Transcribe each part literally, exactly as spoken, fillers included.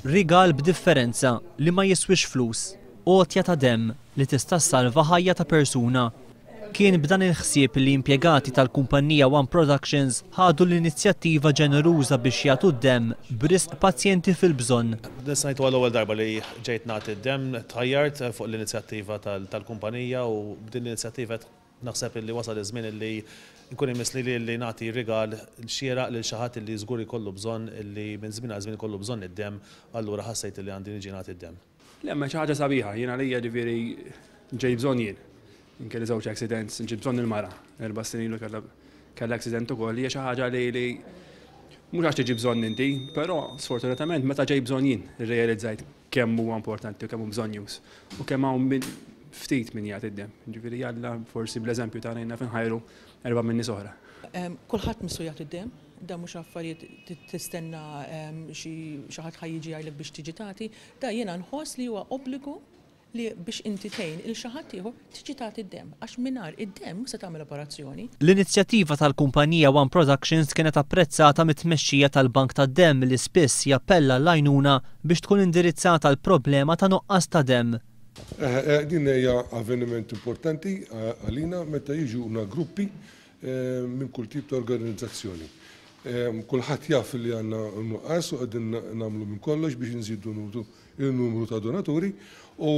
Rigal b'differenza li ma jiswix flus, għotja ta' demm li tista' ssalva ħajja ta' persuna. Kien b'dan il-ħsieb li impjegati tal-kumpanija One Productions ħadu l-inizjattiva ġeneruża biex jagħtu d-demm b'risq pazjenti fil-bżonn. Nista' ngħid l-ewwel darba li ġejt nagħti d-demm, tħajjart fuq l-inizjattiva tal-kumpanija u b'din l-inizjattiva naħseb li wasal iż-żmien li nkun imissli li li nagħti rigal xieraq lil xi ħadd li żgur ikollu bżonn, li minn żmien għal żmien ikollu bżonn id-demm, allura ħassejt li għandi niġi nagħti d-demm. Le, ma xi ħaġa sabiħa, jiena lija ġifieri ġej bżonn jien. Kelli żewġ accidents, ġib bżonn il-mara, erba' snin ilu kellha kellha accident ukoll, hija xi ħaġa li li mhux għax tiġi bżonn inti, però sfortunatament meta ġej bżonn jien irrealizzajt kemm huwa importanti u kemm hu bżonnjuż u kemm hawn min ftit min jagħti d-demm. Ġifieri jalla forsi bl-eżempju tagħna jien naf inħajru erba' minn nies oħra. Kulħadd missu jagħti d-demm, da mhux affarijiet tistenna xi ħadd ħa jiġi jgħidlek biex tiġi tagħti, da jiena nħoss li huwa obbligu li biex inti tgħin il xi ħadd ieħor tiġi tagħti d-demm, għax mingħajr id-demm se tagħmel operazzjoni. L-inizjattiva tal-kumpanija One Productions kienet apprezzata mit-tmexxija tal-Bank tad-Demm li spiss jappella l-għajnuna biex tkun indirizzata l-problema ta' nuqqas ta' demm. Din hija avveniment importanti għalina meta jiġuna gruppi minn kull tip ta' organizzazzjoni. Kulħadd jaf li għandna nuqqas u qegħdin nagħmlu minn kollox biex nżidu il-numru ta' donaturi u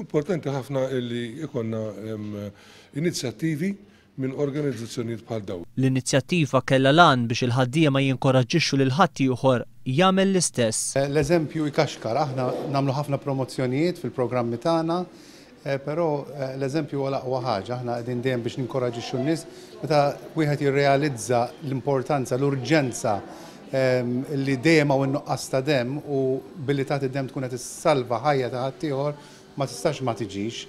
importanti ħafna li ikonna inizjattivi minn organizzazzjonijiet bħal dawn. L-inizjattiva kellha l-għan biex il-ħaddiema jinkoraġġixxu lil ħaddieħor jagħmel l-istess. L-eżempju jkaxkar, aħna nagħmlu ħafna promozzjonijiet fil-programmi tagħna, però l-eżempju huwa l-aqwa ħaġa, aħna qegħdin dejjem biex ninkoraġixxu n-nies meta wieħed jirrealizza l-importanza, l-urġenza li dejjem hawn in-nuqqas ta' demm u billi tagħti demm tkun qed issalva ħajja ta' ħaddieħor, ma tistax ma tiġix.